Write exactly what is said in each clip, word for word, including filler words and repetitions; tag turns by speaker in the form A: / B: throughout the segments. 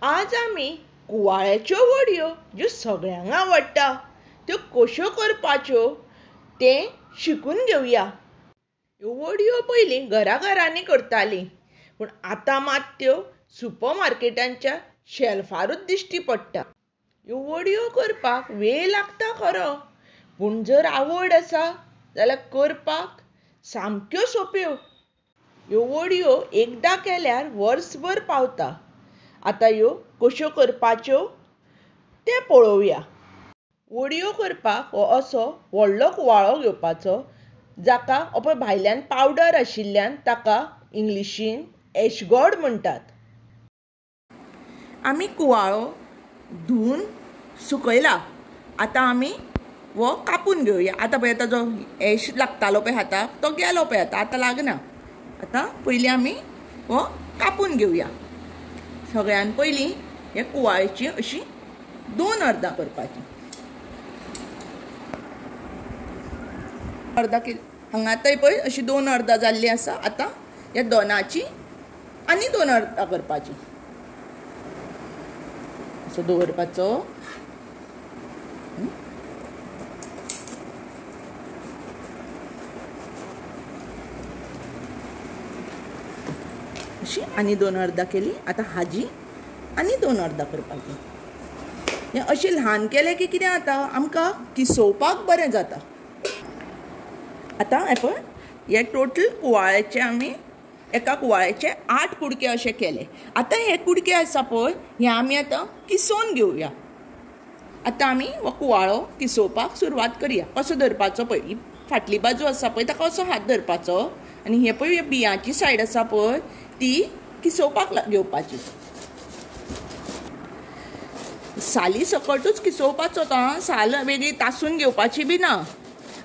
A: आज आमी कुवाळ्याच्यो वडयो ज्यो सगळ्यांक आवडटा त्यो कश्यो करपाच्यो तें शिकून घेवया. ह्यो वडयो पयलीं घरा घरांनी करतालीं, पूण आतां मात त्यो सुपर मार्केटांच्या शेल्फारूच दिश्टी पडटा. ह्यो वडयो करपाक वेळ लागता खरो, पूण जर आवड आसा जाल्यार करपाक सामक्यो सोंप्यो. ह्यो वडयो एकदां केल्यार वर्सभर पावता. आतां ह्यो कश्यो करपाच्यो तें पळोवया. वडयो करपाक हो असो व्हडलो कुवाळो घेवपाचो, जाका हो पळय भायल्यान पावडर आशिल्ल्यान ताका इंग्लिशीन एशगॉड म्हणटात. आमी कुवाळो धुवन सुकयला. आतां आमी हो कापून घेवया. आतां पळय ताजो एश लागतालो पळय हाताक तो गेलो पळय, आतां आतां लागना. आतां पयलीं आमी हो कापून घेवया. सगळ्यान पयलीं हे कुवाळ्याची अशी दोन अर्दां करपाची. अर्दां केली हांगा आतां पळय अशी दोन अर्दां जाल्ली आसा. आतां ह्या दोनाची आनी दोन अर्दां करपाची. असो दवरपाचो. अशी आनी दोन अर्दां केली. आतां हाजी आनी दोन अर्दां करपाची. हें अशें ल्हान केलें की कितें जाता, आमकां किसोवपाक बरें जाता. आतां हें पळय हे टोटल कुवाळ्याचे आमी एका कुवाळ्याचे आठ कुडके अशे केले. आतां हे कुडके आसा पळय हे आमी आतां किसोवन घेवया. आतां आमी हो कुवाळो किसोवपाक सुरवात करया. कसो धरपाचो पळय, ही फाटली बाजू आसा पळय ताका असो हात धरपाचो आनी हे पळय बियांची सायड आसा पळय ती किसोवपाक घेवपाची. साली सकटूच किसोवपाचो तो, साल वेगळी तासून घेवपाची बी ना.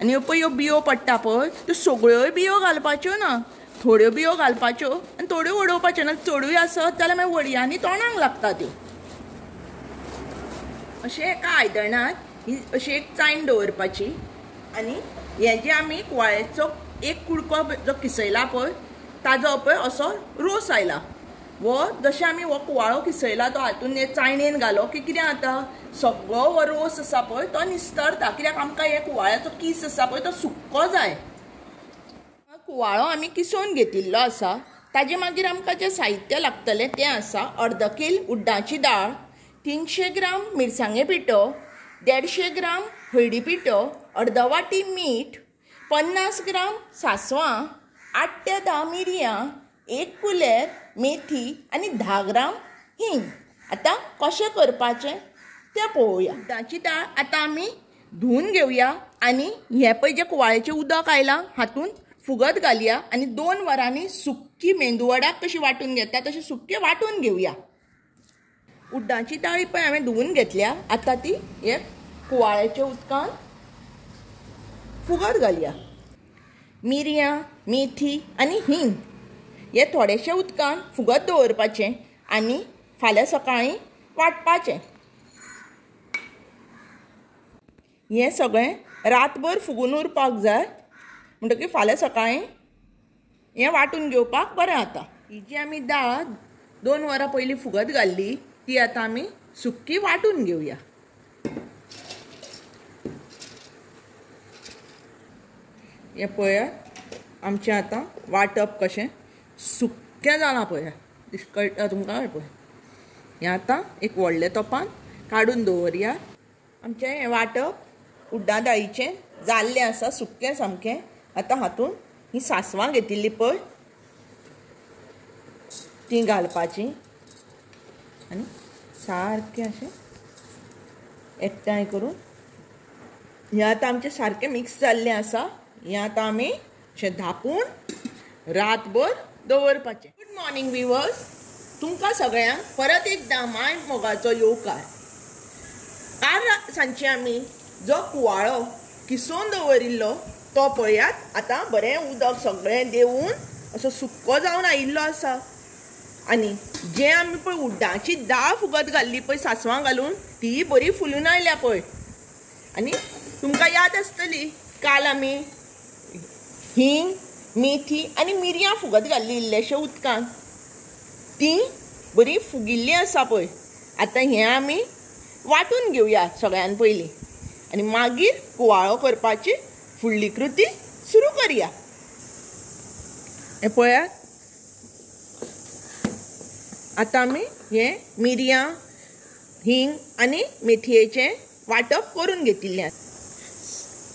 A: आनी ह्यो पळय ह्यो बियो पडटा पळय त्यो सगळ्योय बियो घालपाच्यो ना, थोड्यो बियो घालपाच्यो आनी थोड्यो उडोवपाच्यो ना. चडूय आसत जाल्यार मागीर वडयांनी तोंडाक लागता त्यो. अशें एका आयदनांत ही अशी एक चायण दवरपाची आनी हें जें आमी कुवाळ्याचो एक कुडको जो किसयला पळय ताजो पळय असो रोस आयला. हो जशें आमी हो कुवाळो किसयला तो हातून हे चायणेन घालो की कितें जाता, सगळो हो रोस आसा पळय तो निस्तरता. कित्याक आमकां हे कुवाळ्याचो कीस आसा पळय तो सुक्को जाय. कुवाळो आमी किसोवन घेतिल्लो आसा. ताजे मागीर आमकां जें साहित्य लागतलें तें आसा अर्द कील उड्डाची दाळ, तिनशे ग्राम मिरसांगे पिठो, देडशे ग्राम हळदी पिठो, अर्द वाटी मीठ, पन्नास ग्राम सांसवां, आठ ते धा मिरयां, एक कुलेर मेथी आनी धा ग्राम हिंग. आतां कशें करपाचें तें पळोवया. उड्डाची दाळ आतां आमी धुवन घेवया आनी हें पळय जें कुवाळ्याचें उदक आयलां हातूंत फुगत घालया आनी दोन वरांनी सुक्की मेंदू वडाक कशी वांटून घेता तशी सुक्की वांटून घेवया. उड्डाची दाळ पळय हांवें धुवन घेतल्या. आतां ती हे कुवाळ्याच्या उदकान फुगत घालया. मिरयां, मेथी आनी हिंग हे थोडेशे उदकान फुगत दवरपाचें आनी फाल्यां सकाळीं वांटपाचें. हें सगळें रातभर फुगून उरपाक जाय, म्हणटकीर फाल्यां सकाळीं हें वांटून घेवपाक बरें जाता. ही जी आमी दाळ दोन वरां पयलीं फुगत घाल्ली ती आतां आमी सुक्की वांटून घेवया. हें पळयात आमचें आतां वांटप कशें सुक्कें जालां पळया, कळटा तुमकां. पळय हें आतां एक व्हडल्या तोपान काडून दवरया. आमचें हें वांटप उड्डा दाळीचें जाल्लें आसा, सुक्कें सामकें. आतां हातूंत ही सांसवां घेतिल्ली पळय तीं घालपाचीं आनी सारकें अशें एकठांय करून हें आतां आमचें सारकें मिक्स जाल्लें आसा. हें आतां आमी अशें धांपून रातभर दवरपाचें. गुड मॉर्निंग विवर्स, तुमकां सगळ्यांक परत एकदां माय मोगाचो येवकार. काल सांजचे आमी जो कुवाळो किसोवन दवरिल्लो तो पळयात. आतां बरें उदक सगळें देंवून असो सुक्को जावन आयिल्लो आसा. आनी जें आमी पळय उड्डाची दाळ फुगत घाल्ली पळय सांसवां घालून ती बरी फुलून आयल्या पळय. आनी तुमकां याद आसतली काल आमी हिंग, मेथी आनी मिरयां फुगत घाल्ली इल्लेशे उदकान, ती बरी फुगिल्ली आसा पळय. आतां हें आमी वांटून घेवया सगळ्यान पयलीं आनी मागीर कुवाळो करपाची फुडली कृती सुरू करया. हें पळयात, आतां आमी हें मिरयां, हिंग आनी मेथयेचें वांटप करून घेतिल्लें.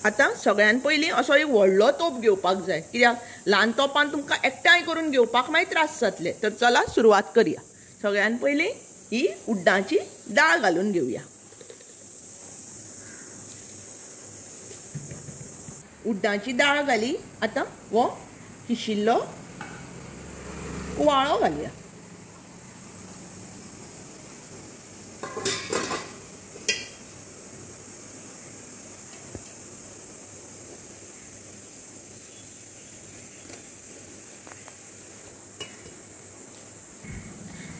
A: आतां सगळ्यान पयलीं असो एक व्हडलो तोप घेवपाक जाय, कित्याक ल्हान तोपान तुमकां एकठांय करून घेवपाक मागीर त्रास जातले. तर चला सुरवात करया. सगळ्यान पयलीं ही उड्डाची दाळ घालून घेवया. उड्डाची दाळ घाली. आतां हो किशिल्लो कुवाळो घालया.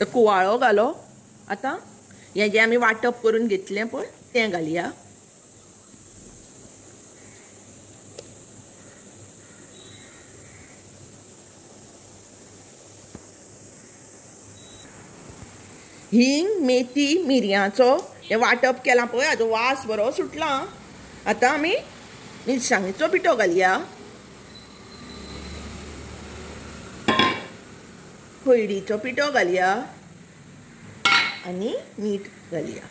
A: तर कुवाळो घालो. आतां हें जें आमी वांटप करून घेतलें पळय तें घालया. हिंग, मेथी, मिरयांचो हें वांटप केलां पळय, हाजो वास बरो सुटला. आतां आमी मिरसांगेचो पिठो घालया, हळदीचो पिठो घालया आनी मीठ घालया.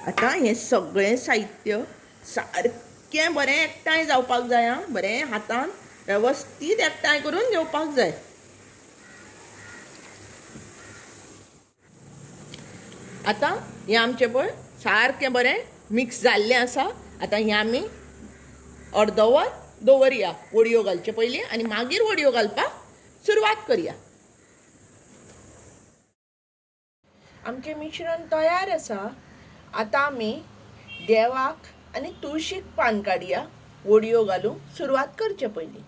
A: आतां हें सगळें साहित्य सारकें बरें एकठांय जावपाक जाय. आं, बरें हातान वेवस्थीत एकठांय करून घेवपाक जाय. आतां हें आमचें पळय सारकें बरें मिक्स जाल्लें आसा. आतां हें आमी अर्दो वर दवरया वडयो घालचे पयलीं आनी मागीर वडयो घालपाक सुरवात करया. आमचें मिश्रण तयार आसा. आतां आमी देवाक आनी तुळशीक पान काडया. वडयो घालूंक सुरवात करचे पयलीं.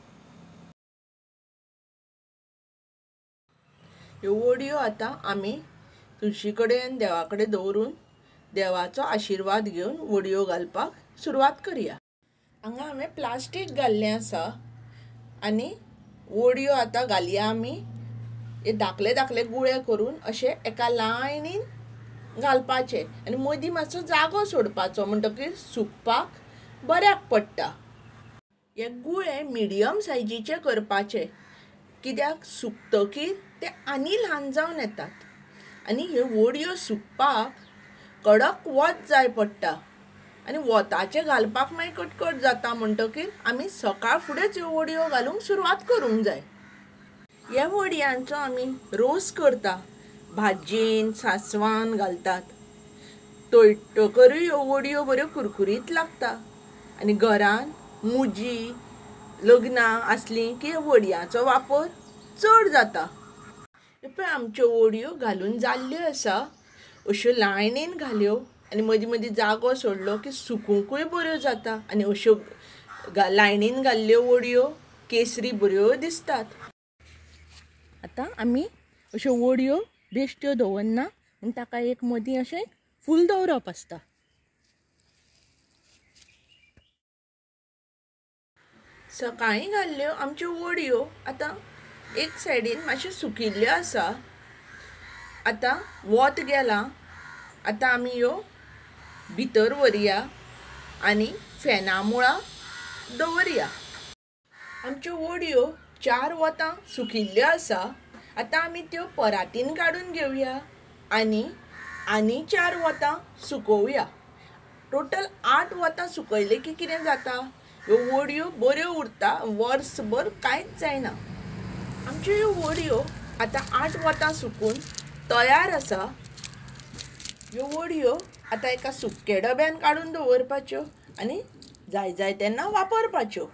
A: ह्यो वडयो आतां आमी तुळशी कडेन देवा कडेन दवरून देवाचो आशिर्वाद घेवन वडयो घालपाक सुरवात करया. हांगा हांवें प्लास्टीक घाल्लें आसा आनी वडयो आतां घालया आमी. हे धाकले धाकले गुळे करून अशे एका लायनीन घालपाचे आनी मदीं मातसो जागो सोडपाचो, म्हणटकीर सुकपाक बऱ्याक पडटा. हे गुळे मिडियम सायजीचे करपाचे, कित्याक सुकतकीर ते आनी ल्हान जावन येतात आनी ह्यो वडयो सुकपाक कडक वत जाय पडटा आनी वताचें घालपाक मागीर कटकट जाता. म्हणटकीर आमी सकाळ फुडेंच ह्यो वडयो घालूंक सुरवात करूंक जाय. ह्या वडयांचो आमी रोस करता, भाजयेन सांसवान घालतात. तळटकरूय ह्यो वडयो बऱ्यो कुरकुरीत लागता आनी घरान मुजी लग्नां आसलीं की वडयांचो वापर चड जाता. पळय आमच्यो वडयो घालून जाल्ल्यो आसा. अश्यो लायनीन घाल्यो आनी मदीं मदीं जागो सोडलो की सुकूंकूय बऱ्यो जाता आनी अश्यो लायनीन घाल्ल्यो वडयो केसरी बऱ्यो दिसतात. आतां आमी अश्यो वडयो बेश्ट्यो दवरना म्हूण ताका एक मदीं अशें फूल दवरप आसता. सकाळीं घाल्ल्यो आमच्यो वडयो आतां एक सायडीन मातश्यो सुकिल्ल्यो आसा. आतां वत गेलां. आतां आमी ह्यो भितर व्हरया आनी फॅना मुळा दवरया. आमच्यो वडयो चार वतां सुकिल्ल्यो आसा. आतां आमी त्यो परातीन काडून घेवया आनी आनी चार वतां सुकोवया. टोटल आठ वतां सुकयले की कितें जाता, ह्यो वडयो बऱ्यो उरता, वर्सभर कांयच जायना. आमच्यो ह्यो वडयो आतां आठ वतां सुकून तयार आसा. ह्यो वडयो आतां एका सुक्या डब्यान काडून दवरपाच्यो आनी जाय जाय तेन्ना वापरपाच्यो.